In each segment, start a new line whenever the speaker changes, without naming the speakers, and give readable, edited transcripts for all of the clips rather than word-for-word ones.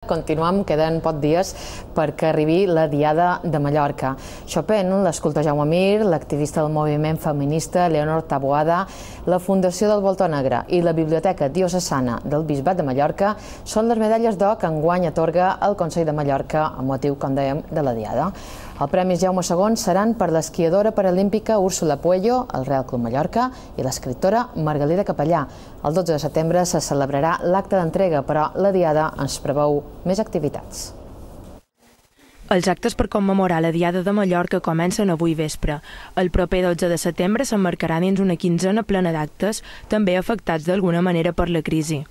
Continuem, queden pocs dies perquè arribi la Diada de Mallorca. Chopin, l'escultor Jaume Mir, l'activista del moviment feminista Leonor Taboada, la Fundació del Voltor Negre i la Biblioteca Diocesana del Bisbat de Mallorca són les medalles d'or que enguany atorga el Consell de Mallorca amb motiu, com dèiem, de la Diada. Els Premis Jaume II seran per l'esquiadora paralímpica Úrsula Puello, al Real Club Mallorca, i l'escriptora Margalida Capellà. El 12 de setembre se celebrarà l'acte d'entrega, però la Diada ens preveu més activitats.
Els actes per commemorar la Diada de Mallorca comencen avui vespre. El proper 12 de setembre s'emmarcarà dins una quinzena plena d'actes, també afectats d'alguna manera per la crisi.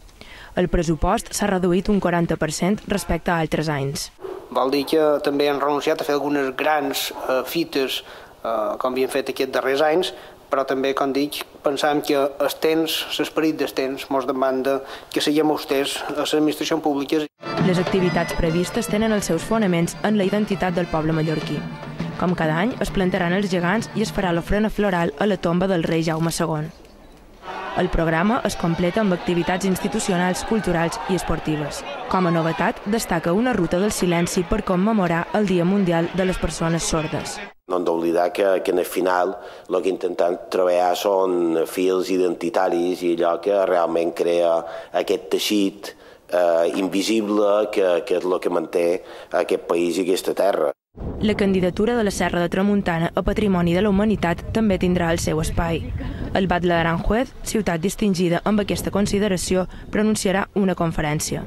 El pressupost s'ha reduït un 40% respecte a altres anys.
Vol dir que també han renunciat a fer algunes grans fites, com havien fet aquests darrers anys, però també, com dic, pensàvem que el temps, l'esperit del temps, ens demanda que siguem austers a les administracions públiques.
Les activitats previstes tenen els seus fonaments en la identitat del poble mallorquí. Com cada any, es plantaran els gegants i es farà l'ofrena floral a la tomba del rei Jaume II. El programa es completa amb activitats institucionals, culturals i esportives. Com a novetat, destaca una ruta del silenci per commemorar el Dia Mundial de les Persones Sordes.
No hem d'oblidar que en el final el que intentem treballar són fils identitaris i allò que realment crea aquest teixit invisible que és el que manté aquest país i aquesta terra.
La candidatura de la Serra de Tramuntana a Patrimoni de la Humanitat també tindrà el seu espai. El Batlle d'Aranjuez, ciutat distingida amb aquesta consideració, pronunciarà una conferència.